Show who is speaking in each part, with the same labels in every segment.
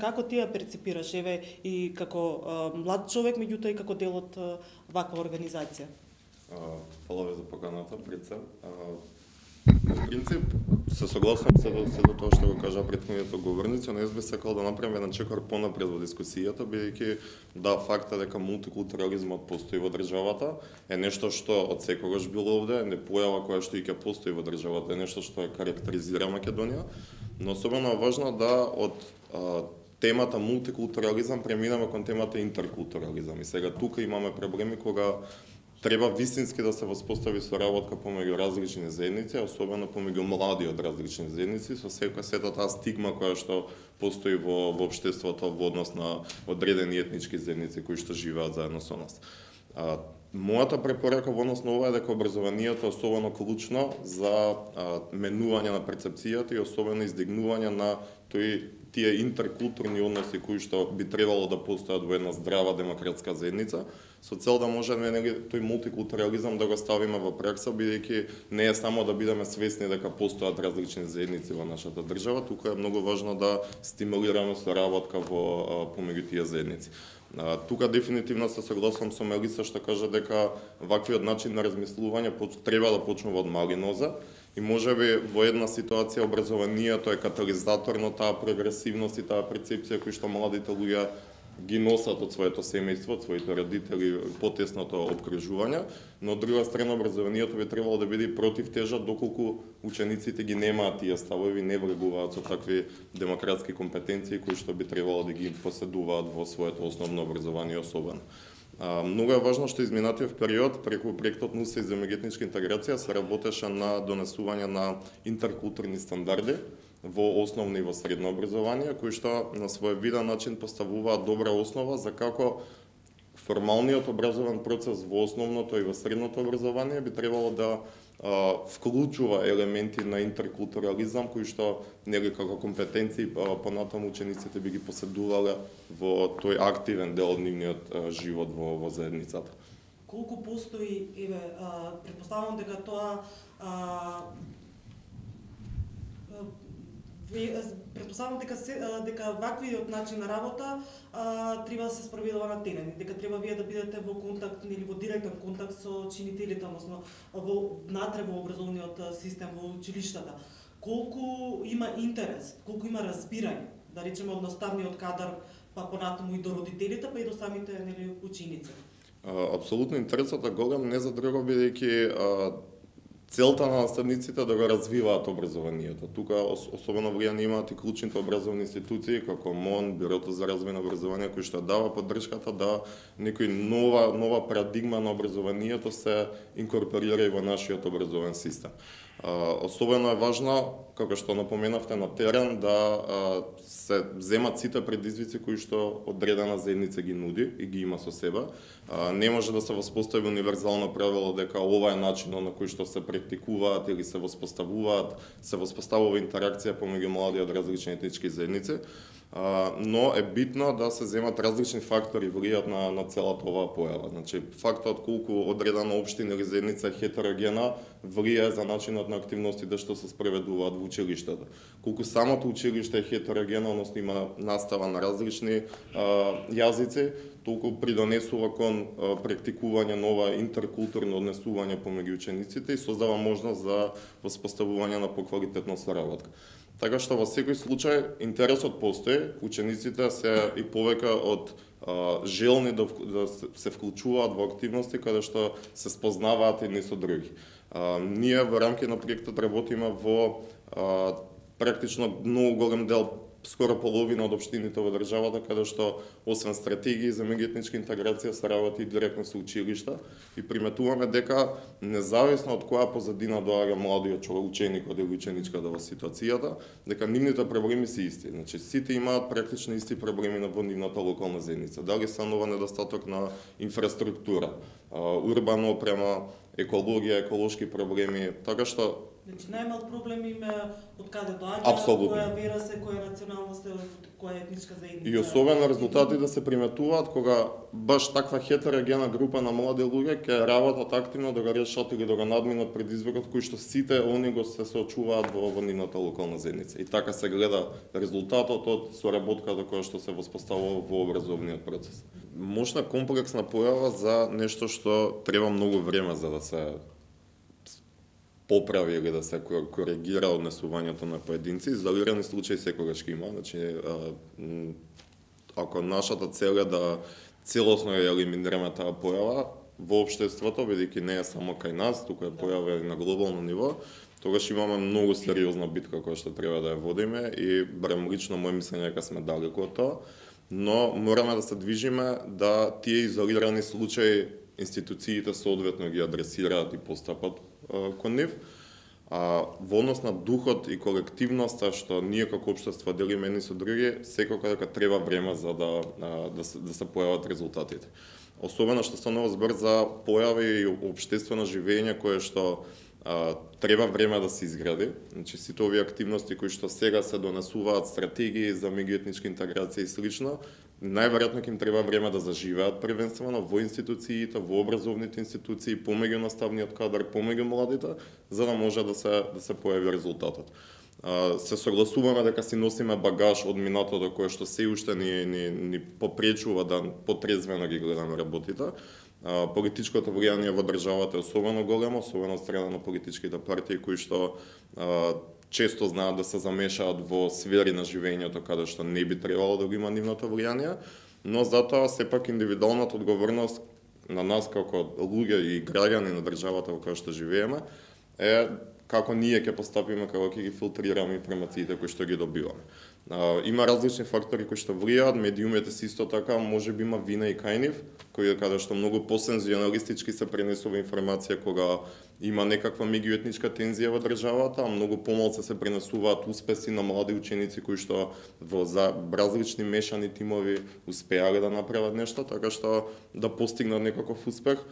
Speaker 1: Како ти ја перципираш, еве, и како млад човек, меѓутоа и како дел од ваква организација?
Speaker 2: Фала ви за поканата, пред се. На принцип, се согласувам се до тоа што го кажа претходниот говорници, но јас би сакал да направам еден чекор понапред во дискусијата, бидејќи факт е дека мултикултурализмот постои во државата, е нешто што од секогаш било овде, не појава која што и ќе постои во државата, е нешто што ја карактеризира Македонија, но особено е важно да од темата мултикултурализам преминеме кон темата интеркултурализам. И сега тука имаме проблеми кога треба вистински да се воспостави соработка помеѓу различни заедници, особено помеѓу млади од различни заедници, со сета таа стигма која што постои во општеството во однос на одредени етнички заедници кои што живеат заедно со нас. Мојата препорака во однос на ова е дека образованието е особено клучно за менување на перцепцијата и особено издигнување на тие интеркултурни односи кои што би требало да постојат во една здрава демократска заедница, со цел да можеме тој мултикултурализам да го ставиме во пракса, бидејќи не е само да бидеме свесни дека постојат различни заедници во нашата држава, тука е многу важно да стимулираме соработка помеѓу тие заедници. Тука дефинитивно се согласувам со Мелиса што кажа дека ваквиот начин на размислување треба да почнува од мали нозе и можеби во една ситуација образованието е катализатор на таа прогресивност и таа перцепција која што младите луѓе ги носат од своето семејство, од своите родители, потесното обкружување, но од друга страна образованието би требало да биде противтежа доколку учениците ги немаат тие ставови, не врегуваат со такви демократски компетенции кои што би требало да ги поседуваат во своето основно образование особено. Многу е важно што изминатиот период преку проектот НУСЕ за меѓуетничка интеграција се работеше на донесување на интеркултурни стандарди во основно и во средно образование, кои што на свој виден начин поставуваат добра основа за како формалниот образовен процес во основното и во средното образование би требало да вклучува елементи на интеркултурализам кои што нели како компетенции понатаму учениците би ги поседувале во тој активен дел од нивниот живот во заедницата.
Speaker 1: Колку постои, еве, претпоставувам дека тоа претпоставувам дека ваквиот начин на работа треба да се спроведува на терен, дека треба вие да бидете во контакт или во директен контакт со чинителите, односно внатре во образовниот систем во училиштата. Колку има интерес, колку има разбирање, да речеме од наставниот кадар, па понатаму и до родителите, па и до самите ученици?
Speaker 2: Апсолутно интересот е голем, не за друго бидејќи целта на наставниците да го развиваат образованието. Тука особено влијание имаат и клучните образовни институции како МОН, Бирото за развој на образование, кој што дава поддршката да некој нова парадигма на образованието се инкорпорира и во нашиот образовен систем. Особено е важно, како што напоменавте на терен, да се земат сите предизвици кои што одредена заедница ги нуди и ги има со себе. Не може да се воспостави универзално правило дека ова е начинот на кој што се практикуваат или се воспоставува интеракција помеѓу млади од различни етнички заедници, но е битно да се земат различни фактори влијат на целата оваа појава. Значи, фактот колку одредена општина или заедница е хетерогена влијае за начинот на активностите што се спроведуваат во училиштата. Колку самото училиште е хетерогено, односно има настава на различни јазици, толку придонесува кон практикување нова интеркултурно однесување помеѓу учениците и создава можност за воспоставување на поквалитетна соработка. Така што во секој случај интересот постои, учениците се и повеќе од желни да се вклучуваат во активности каде што се спознаваат едни со други. Ние во рамки на проектот работиме во практично многу голем дел, скоро половина од општините во државата, каде што освен стратегии за меѓуетничка интеграција се работи директно со училишта и приметуваме дека независно од која позадина доаѓа младиот ученикот или ученичката во ситуацијата, дека нивните проблеми се исти. Значи сите имаат практично исти проблеми во нивната локална заедница. Дали станува недостаток на инфраструктура, урбана опрема, екологија, еколошки проблеми, така што
Speaker 1: Значи најмал проблем име од каде доаѓа,
Speaker 2: Апсолутно.
Speaker 1: која вера се, која националност е, која етничка заедница.
Speaker 2: и особено резултати да се приметуваат кога баш таква хетерогена група на млади луѓе ќе работат активно да го решат или да го надминат предизвикот кој што сите они го се соочуваат во нивната локална заедница. И така се гледа резултатот од соработката која што се воспоставува во образовниот процес. Мощна комплексна појава за нешто што треба многу време за да се поправи или да се коригира однесувањето на поединци. Изолирани случаи секогаш ќе има. Значи, ако нашата цел е да целосно ја елиминираме таа појава во општеството, бидејќи не е само кај нас, туку е појава и на глобално ниво, тогаш имаме многу сериозна битка која што треба да ја водиме и барем лично мој мислење дека сме далеку од тоа, но мораме да се движиме да тие изолирани случаи институциите соодветно ги адресираат и постапат кон нив. Во однос на духот и колективноста што ние како општество делиме едни со други, секако дека треба време за да се појават резултатите. Особено што станува збор за појави и општествено живење кое што треба време да се изгради. Значи сите овие активности кои што сега се донесуваат, стратегии за меѓуетничка интеграција и слично, најверојатно ќе им треба време да заживеат првенствено во институциите, во образовните институции, помеѓу наставниот кадар, помеѓу младите, за да може да се појави резултатот. Се согласуваме дека си носиме багаж од минатото кое што се уште ни попречува да потрезвено ги гледаме работите. Политичкото влијание во државата е особено големо, особено од страна на политичките партии кои што често знаат да се замешаат во сфери на живењето каде што не би требало да го има нивното влијание, но затоа сепак индивидуалната одговорност на нас како луѓе и граѓани на државата во која што живееме е како ние ќе постапиме, како ќе ги филтрираме информациите кои што ги добиваме. Има различни фактори кои што влијаат, медиумите се исто така, можеби има вина и кај нив, каде што многу посензионалистички се пренесува информација кога има некаква меѓуетничка тензија во државата, а многу помалку се пренесуваат успеси на млади ученици кои што во различни мешани тимови успеале да направат нешто, така што да постигнат некаков успех.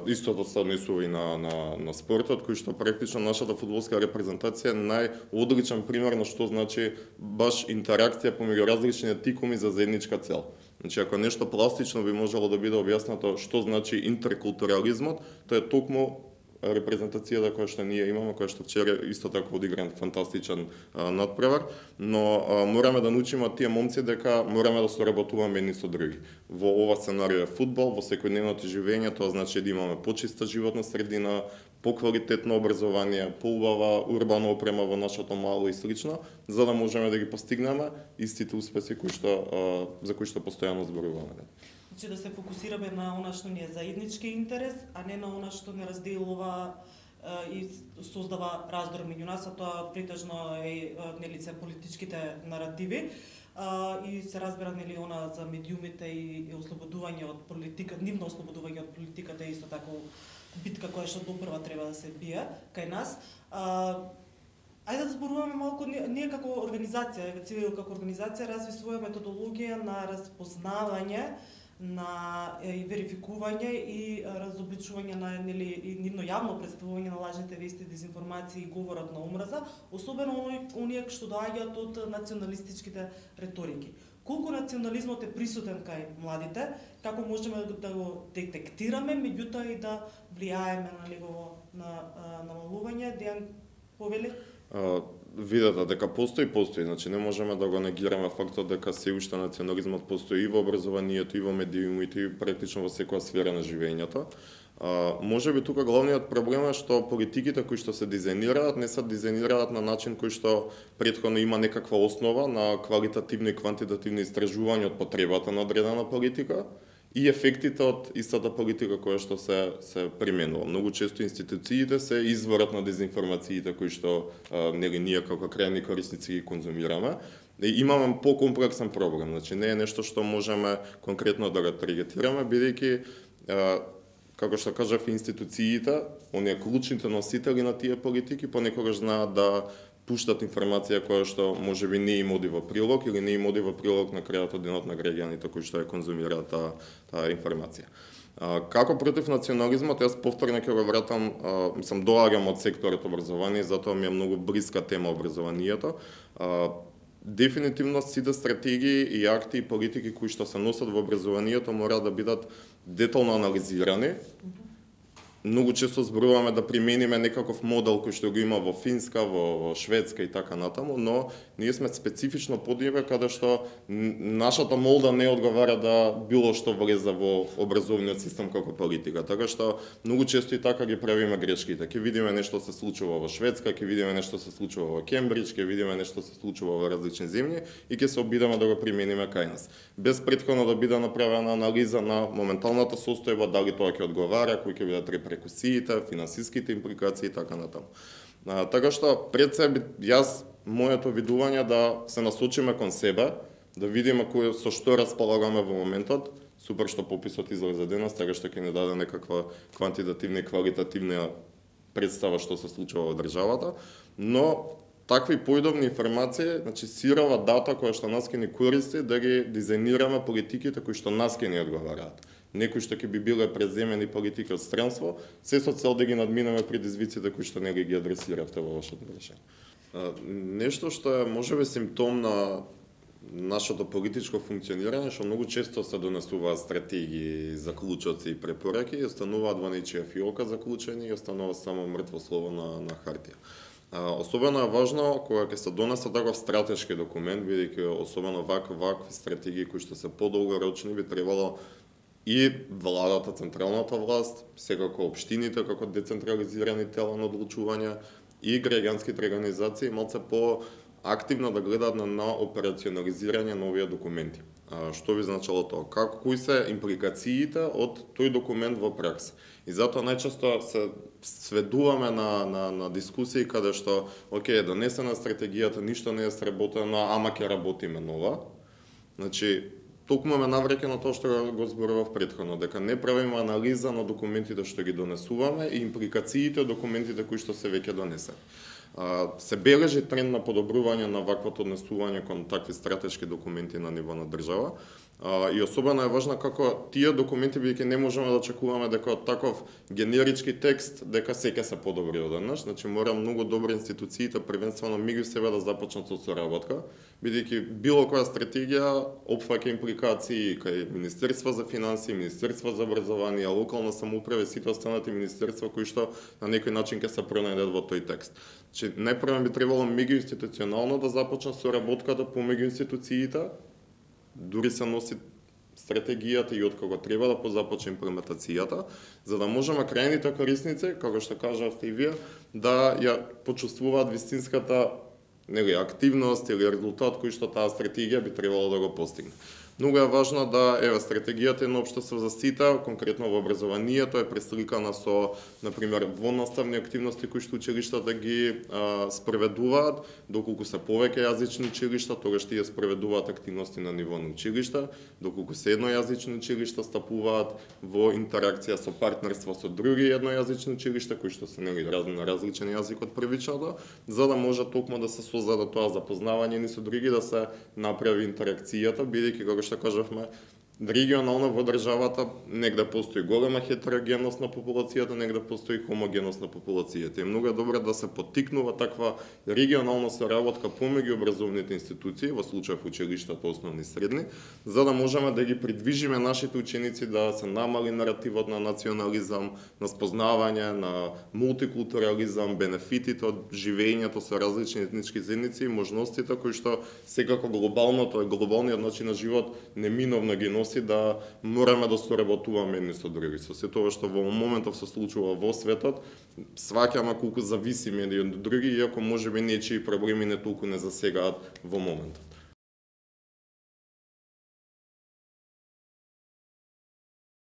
Speaker 2: Истото се однесува и на спортот, кој што практично нашата фудбалска репрезентација е најодличен пример на што значи баш интеракција помеѓу различни тикуми за заедничка цел. Значи, ако нешто пластично би можело да биде објаснато што значи интеркултурализмот, тоа е токму репрезентацијата која што ние имаме, која што вчера исто така одигран фантастичен надпревар, но мораме да научиме од тие момци дека мораме да соработуваме едни со други. Во ова сценарио е фудбал, во секојдневното живење, тоа значи да имаме почиста животна средина, поквалитетно образование, поубава урбана опрема во нашето мало и слично, за да можеме да ги постигнеме истите успеси за кои што постојано зборуваме.
Speaker 1: Значи да се фокусираме на она што ни е заеднички интерес, а не на она што не разделува и создава раздор меѓу нас, а тоа претежно е нелице политичките наративи. И се разбира нели она за медиумите и ослободување од политика, нивно ослободување од политиката е исто така битка која што допрва треба да се бие кај нас. Ајде да зборуваме малку, ние како организација, Цивил како организација разви своја методологија на распознавање и верификување и разобличување на и нивно јавно представување на лажните вести, дезинформации и говорат на омраза, особено оние што доаѓаат од националистичките реторики. Колку национализмот е присутен кај младите, како можеме да го детектираме, меѓутоа и да влијаеме на негово намалување? Дејан повели?
Speaker 2: Видете дека постои, значи не можеме да го негираме фактот дека се уште национализмот постои и во образованието, и во медиумите, и практично во секоја сфера на живењето. Можеби тука главниот проблем е што политиките кои што се дизајнираат не се дизајнираат на начин кој што претходно има некаква основа на квалитативни и квантитативни истражувања од потребата на одредена политика и ефектите од истата политика која што се применува. Многу често институциите се изворот на дезинформациите кои што ние како крајни корисници ги конзумираме. И имаме покомплексен проблем, значи не е нешто што можеме конкретно да го таргетираме, бидејќи како што кажав, институциите, оние клучните носители на тие политики, понекогаш знаат да пуштат информација која што можеби не им оди во прилог или не им оди во прилог на крајот од денот на граѓаните кои што ја конзумираат таа информација. Како против национализмот, јас повторно ќе го вратам, доаѓам од секторот образование, затоа ми е многу блиска тема образованието. Дефинитивно сите стратегии и акти и политики кои што се носат во образованието мора да бидат детално анализирани. Многу често зборуваме да примениме некаков модел кој што го има во Финска, во Шведска и така натаму, но ние сме специфично под ниве каде што нашата молда не одговара да било што влезе во образовниот систем како политика. Така што многу често и така ги правиме грешките. Ќе видиме нешто се случува во Шведска, ќе видиме нешто се случува во Кембридж, ќе видиме нешто се случува во различни земји и ќе се обидеме да го примениме кај нас. Без претходно да биде направена анализа на моменталната состојба, дали тоа ќе одговара, кои ќе бидат репрекусиите, финансиските импликации и така натаму. Така што пред себе моето видување да се насочиме кон себе, да видиме со што располагаме во моментот. Супер што пописот излезе денес, така што ќе ни даде некаква квантитативна и квалитативна представа што се случува во државата, но такви поидовни информации, значи сирова дата која што нас ќе ни користи да ги дизајнираме политиките кои што нас ќе ни одговараат. Некои што ќе би биле преземени политики од странство, се со цел да ги надминеме предизвиците кои што не ги адресиравте во вашето прашање. Нешто што е можеби симптом на нашето политичко функционирање, што многу често се донесуваат стратегии, заклучоци и препораки и остануваат во нечија фиока заклучени и останува само мртво слово на хартија. Особено е важно кога ќе се донесе таков стратешки документ, бидејќи особено вакви стратегии кои што се подолгорочни би требало и владата, централната власт, секако општините како децентрализирани тела на одлучување и граѓанските организации малце по-активно да гледаат на операционализирање на овие документи. Што би значило тоа? Кои се импликациите од тој документ во пракса? И затоа најчесто се сведуваме на дискусии каде што, донесена стратегијата, ништо не е сработено, ама ќе работиме нова. Значи, токму ме навреќе на тоа што го зборував претходно, дека не правиме анализа на документите што ги донесуваме и импликациите од документите кои што се веќе донесени. Се бележи тренд на подобрување на ваквото однесување кон такви стратешки документи на ниво на држава. И особено е важно како тие документи, бидејќи не можеме да очекуваме дека од таков генерички текст дека се ќе се подобри одеднаш, значи мора многу добро институциите првенствено меѓу себе да започнат со соработка, бидејќи било која стратегија опфаќа импликации кај Министерство за финансии, Министерство за образование, локална самоуправа и сите останати министерства кои што на некој начин ќе се пронајдат во тој текст. Значи најпрво би требало меѓуинституционално да започне соработката помеѓу институциите, дури се носи стратегијата и откога треба да позапочне имплементацијата, за да можеме крајните корисници, како што кажавте и вие, да ја почувствуваат вистинската активност или резултат кој што таа стратегија би требало да го постигне. Многу е важно да стратегијата е на општество за сите, конкретно во образованието е пресликана со, например, воннаставни активности кои што училиштата ги спроведуваат, доколку се повеќе јазични училишта, тогаш тие спроведуваат активности на ниво на училишта, доколку се еднојазични училишта стапуваат во интеракција со партнерство со други еднојазични училишта кои што се на различен јазик од првичното, за да може токму да се создаде тоа запознавање ни со други, да се направи интеракцијата, бидејќи како што кажавме, регионално во државата негде постои голема хетерогенност на популацијата, негде постои хомогенност на популацијата. И многу е добро да се поттикнува таква регионална соработка помеѓу образовните институции, во случајов училиштата основни и средни, за да можеме да ги придвижиме нашите ученици да се намали наративот на национализам, на спознавање, на мултикултурализам, бенефитите од живењето со различни етнички заедници и можностите кои што секако глобалниот начин на живот неминовно ги носи да мораме да соработуваме едни со други. Со се тоа што во моментов се случува во светот, сваќаме колку зависиме едни од други, иако можеби нечии проблеми не толку не засегаат во моментот.